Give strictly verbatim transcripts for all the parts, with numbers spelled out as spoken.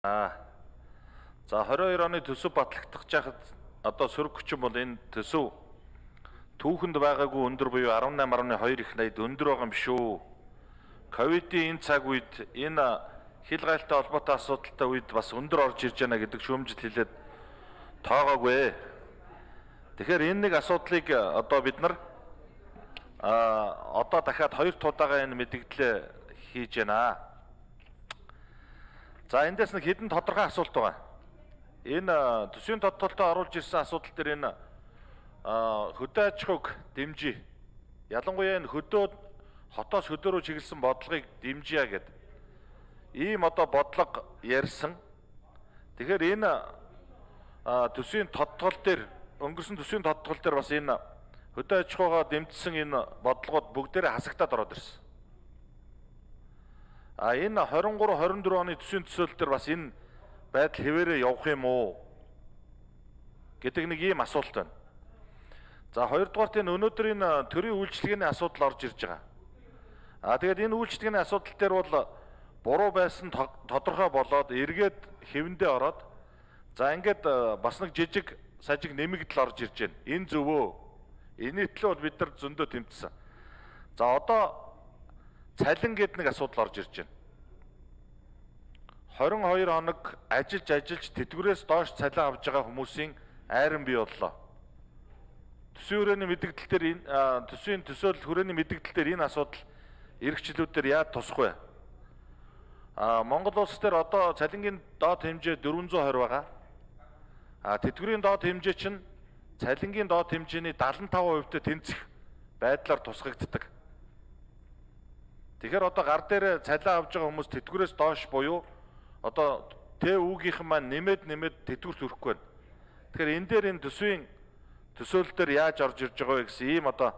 Аа. За двадцать двадцать оны төсөв батлагдах жахад одоо сөрөг хүчин бол энэ төсөв түүхэнд байгаагүй өндөр буюу арван найман арван хоёр их найд өндөр байгаа юм шүү. Ковидын энэ цаг үед энэ хил гайлтай холбоотой асуудалтай үед бас өндөр орж ирж байна гэдэг шүүмжил хэлээд тоогоогүй. Тэгэхээр энэ нэг асуудлыг одоо бид нар а одоо дахиад хоёр тудаага энэ мэдгдлээ хийж байна. За эндээс нэг хэдэн тодорхой асуулт байгаа. Энэ төсвийн тодтолтой оруулж ирсэн асуудал дээр энэ хөдөө аж ахуйг дэмжиж, ялангуяа энэ хөдөө хотоос хөдөө рүү чиглэсэн бодлогыг дэмжиж гэдэг ийм одоо бодлого ярьсан. Тэгэхээр энэ төсвийн тодтол дээр өнгөрсөн төсвийн тодтол дээр бас энэ хөдөө аж ахуйгаа дэмжсэн энэ бодлогод бүгдээрээ хасагтаад ороод ирсэн. А энэ двадцать три двадцать четыре оны төсвийн төсөөлөл дээр бас энэ байдал хэвээрээ явах юм уу гэдэг нэг ийм асуулт байна. За хоёрдугаарт энэ өнөөдөр энэ төрийн үйлчлэгээний асуудал орж ирж байгаа. А тэгээд энэ үйлчлэгээний асуудал дээр бол буруу байсан тодорхой болоод эргээд хэвэндээ ороод за ингээд бас нэг жижиг сажиг нэмэгдэл орж ирж байна. Энэ зөвөө. Энэ төлөө бол бид нар зөндөө тэмцсэн. За одоо цалин гэдэг нэг асуудал орж ирж байна. двадцать two хоног ажиллаж ажиллаж тэтгэврээс доош цалин авж байгаа хүмүүсийн айран бий боллоо. Төсвийн хүрээний мэдээлэл дээр энэ төсвийн төсөөлөл хүрээний мэдээлэл дээр энэ асуудал эрхчлүүдээр яаж тусах вэ? А Монгол улс дээр одоо цалингийн доод хэмжээ дөрвөн зуун двадцать байгаа. А тэтгэврийн доод хэмжээ чинь цалингийн доод хэмжээний seventy-five percent-тэй тэнцэх байдлаар тусгагддаг. Тэгэхээр одоо гар дээр цалин авж байгаа хүмүүс тэтгэврээс доош буюу одоо тэ үүгийнхэн маань нэмээд нэмээд тэтгэврт хүрэхгүй байна. Тэгэхээр энэ дээр энэ төсвийн төсөөлөл дээр яаж орж ирж байгаа вэ гэсэн ийм одоо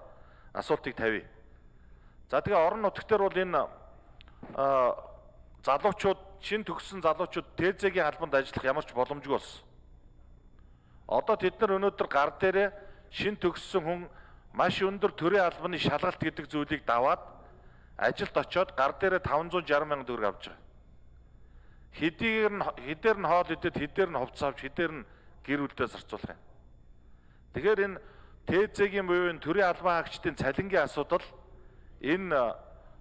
асуултыг тавья. За тэгээ орон нутгт дээр бол энэ залуучууд шин төгссөн залуучууд ТЭЗ-ийн албанд ажиллах ямар ч боломжгүй болсон. Одоо тэд нар өнөөдөр гар дээрээ шин төгссөн хүн маш өндөр төрийн албаны шалгалт гэдэг зүйлийг даваад ажилд очиод гар дээрээ five hundred sixty мянган төгрөг авч байгаа. Хэдийгээр нь хэдээр нь хоол идэд хэдээр нь хувцас авч хэдээр нь гэр бүлдээ зарцуулах юм. Тэгэхээр энэ ТЭЗ-ийн буюу энэ төрийн албан хаагчдын цалингийн асуудал энэ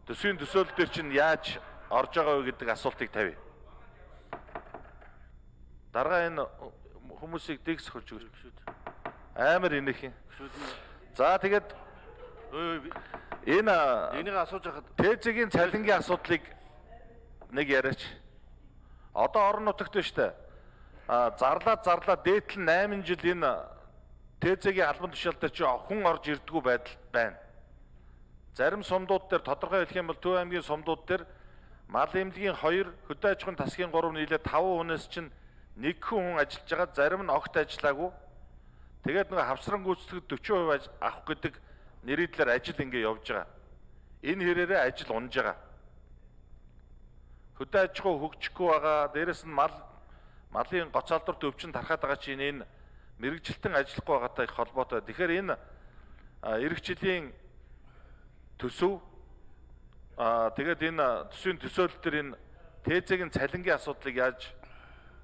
төсвийн төсөөлөл дээр чинь яаж орж байгаа вэ гэдэг асуултыг тавья. Дарга энэ хүмүүсийг дэгс хөрж өгч шүү дээ. Амар инех юм. За тэгээд энэ энийг асууж хахад ТЭЗ-ийн цалингийн асуудлыг нэг яриач. Одоо орон нутагт байна шүү дээ. А зарлаад зарлаад дээдл нь eight жил энэ ТЭЗ-ийн албан тушаал дээр чи хүн орж ирдгүү байдал байна. Зарим сумдууд дээр тодорхой хэлэх юм бол Төв аймгийн сумдууд дээр мал эмнэлгийн two, хөдөө аж ахуйн тасгийн three нийлээ five хүнээс чинь нэг хүн ажиллаж байгаа, зарим нь огт ажиллаагүй. Тэгээд нэг хавсран гүйцэтгэд forty percent авах гэдэг нэрийдлэр ажил ингэ явж байгаа. Энэ хэрээрээ ажил унж байгаа. Хөдөө аж ахуй хөгжихгүй байгаа. Дээрэс нь мал малын гоцаалдурт өвчин тархаад байгаа чинь энэ мэрэгжилтэн ажиллахгүй байгаатай их холбоотой. Тэгэхээр энэ эх жилийн төсөв аа тэгээд энэ төсвийн төсөөлөл төр энэ ТЭЗ-ийн цалингийн асуудлыг яаж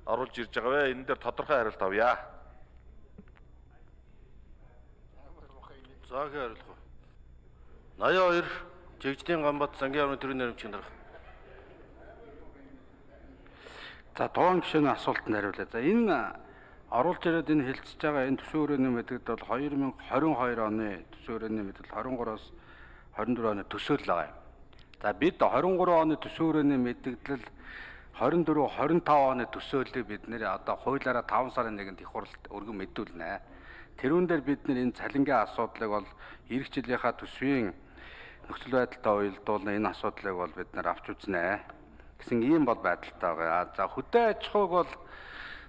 оруулж ирж байгаа вэ? Энэ дээр тодорхой хариулт авъя. За хариулах уу. eighty-two Жигждийн Гамбат Сангийн орны төрийн нэрмчийн дарга. За тоон гишүүний асуултанд хариулъя. За энэ оруулж ирээд энэ хэлцэж байгаа энэ төсвийн хүрээний мэдээлэл бол twenty twenty-two оны төсвийн хүрээний мэдээлэл twenty-three-оос twenty-four оны төсөөлөл байгаа юм. За бид twenty-three оны төсвийн хүрээний мэдээлэл twenty-four twenty-five оны төсөөллийг бид нэр одоо хуулиараа five сарын нэгнд их хурлд өргөн мэдүүлнэ. Тэрүүн дээр бид нэр энэ цалингийн асуудлыг бол эх жилийнхаа төсвийн нөхцөл байдалтай уялдуулна энэ асуудлыг бол бид нар авч үзнэ гэсэн ийм бол байдалтай байгаа. За хөдөө аж ахуйг бол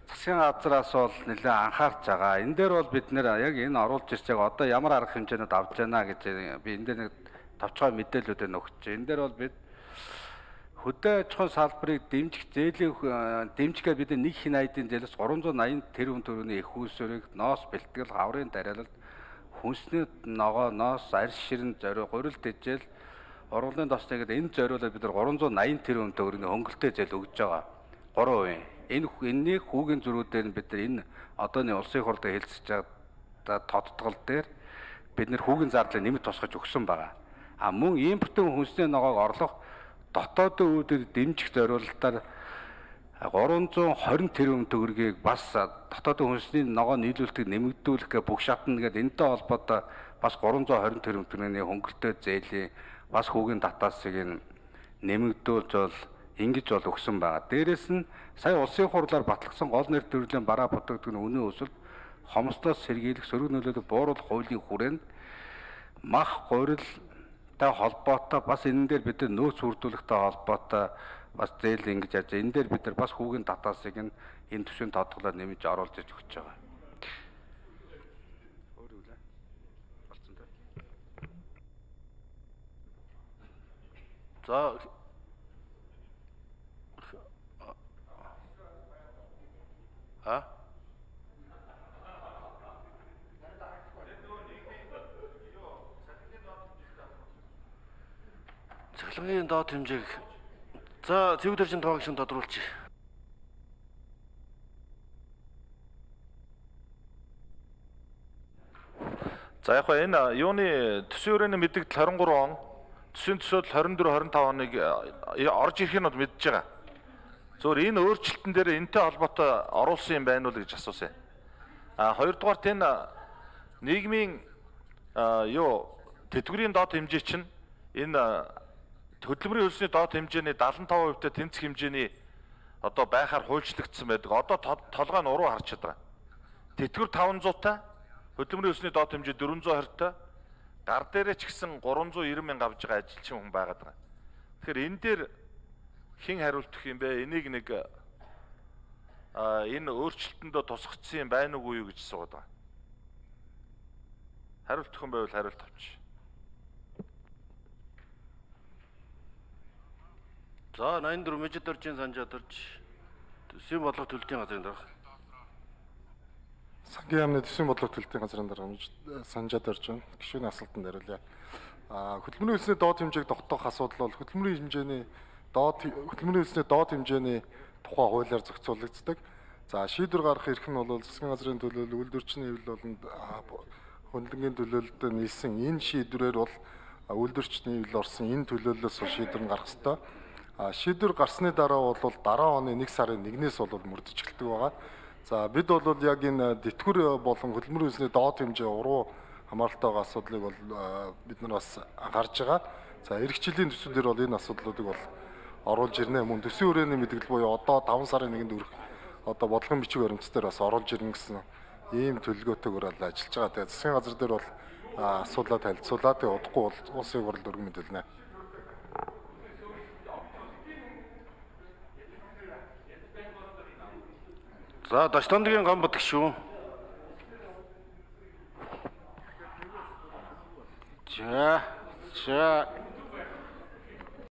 засгийн газраас бол нэлээд анхаарч байгаа. Энэ дээр бол бид нэр яг энэ оруулж ирж байгаа одоо ямар арга хэмжээнд авч байна гэж би энэ дээр нэг товчгой мэдээллүүдээ нөгч. Энэ дээр бол бид хөдөө аж ахуйн салбарыг дэмжих зээлийн дэмжихээр бид нэг хин айдын зээлээс three hundred eighty тэрбум төгрөгийн их үүсвэрийг ноос бэлтгэл хаврын дараалалд хүнсний ногоо ноос арьс ширэн зориу гурил дэжэл ургуулгын тосны гэдэг энэ зориулаад бид нар three hundred eighty тэрбум төгрөгийн хөнгөлөлтэй зээл өгж байгаа. three percent Энэ энэний хүүгийн зөрүүдээр бид нар энэ одооны улсын хурлд хэлцэж байгаа тодтгол дээр бид нар хүүгийн зардлыг нэмэлт тусгаж өгсөн байгаа. А мөн импортын хүнсний ногоог орлох дотоодын үүдээр дэмжих зорилтоор гурван зуун хорин тэрбум төгрөгийг бас дотоодын хүнсний ногоо нийлүүлэлтийг нэмэгдүүлэх гэх бүх шатна гэдэг энэтэй холбоотой бас гурван зуун хорин тэрбум төгрөгийн хөнгөлөлтөө зээлийн бас хүүгийн татаасыг нэмэгдүүлж бол ингэж бол өгсөн байгаа. Дээрээс нь сая улсын хурлаар батлагдсан гол нэр төрлийн бараа бодогдох үнийн өсөлт хомсдоос сэргийлэх сөрөг нөлөөлөх бууруулах хуулийн хүрээнд мах гурилтай холбоотой бас энэ дээр бид нөөц бүрдүүлэхтэй холбоотой бас зээл ингэж яаж энэ дээр бид нар бас хүүгийн татаасыг нь энэ төсвийн тодголоор нэмж оруулж иж өгч байгаа. За А? Цахилгааны доод хэмжээг за цэвэр төржин тоогч тодруулж. За яг энэ юуны төсвийн хүрээний мэдээлэл харин гурван он, төсвийн төсөөлөл хорин дөрөв хорин тав оныг орж ирэх нь бол мэдж байгаа. Зөвхөн энэ өөрчлөлтөн дээр энэтэй холбоотой оруулсан юм байна уу гэж асуусан. А хоёрдугаарт энэ нийгмийн юу тэтгэврийн доод хэмжээ чинь энэ хөдөлмөрийн хөлсний доод хэмжээний дагалан таван хувьтай тэнцэх хэмжээний одоо байхаар хуульчлагдсан байдаг. Одоо толгой нь уруу харж байгаа. Тэтгэвэр таван зуутай, хөдөлмөрийн хөлсний доод хэмжээ дөрвөн зуун хортой, гар дээрээ ч гэсэн гурван зуун найман мянга авж байгаа ажилчин хүн байгаад байгаа. Тэгэхээр энэ дээр хэн хариултах юм бэ? Энийг нэг а энэ өөрчлөлтөндөө тусгацсан юм байна уугүй юу гэж асууад байгаа. Хариултах юм байвал хариулт авч. За найман дөрөв мэжид оржийн санжаад орж төсвийн бодлого төлөлтийн газрын дарга. Сангийн яамны төсвийн бодлого төлөлтийн газрын дарга санжаад орж байна. Гишүүний асуултанд хариулъя. А хөдөлмөрийн хөлсний доод хэмжээг тогтоох асуудал бол хөдөлмөрийн хэмжээний доод хөдөлмөрийн хөлсний доод хэмжээний тухай хуулиар зохицуулагддаг. За шийдвэр гаргах эрх нь бол засгийн газрын төлөөлөл, үйлдвэрчний хэвлэл болон хөндлөнгийн төлөөлөлд нийлсэн энэ шийдвэрээр бол үйлдвэрчний хэвлэл орсон энэ төлөөллөөс шийдвэр нь гарах ёстой. А шийдвэр гарсны дараа бол дараа оны нэг сарын нэгнээс бол мөрдөж эхэлдэг байгаа. За бид бол яг энэ тэтгэвэр болон хөдөлмөрийн хөлсний доод хэмжээ уруу хамааралтай байгаа асуудлыг бол бид нар бас анхаарж байгаа. За эх жилийн төсвүүдээр бол энэ асуудлуудыг бол оруулж ирнэ. Мөн төсвийн хүрээний мэдээлэл буюу одоо таван сарын нэгэнд өрөх одоо бодлогын бичиг баримтсаар бас оруулж ирнэ гэсэн ийм төлөвлөгөөтэйгээр бол ажиллаж байгаа. Тэгээ засгийн газар дээр бол асуудлаа танилцуулаад удахгүй бол улсын хурлд өргөн мэдээлнэ. За Дашдандгийн Гамбат гишүүн. За за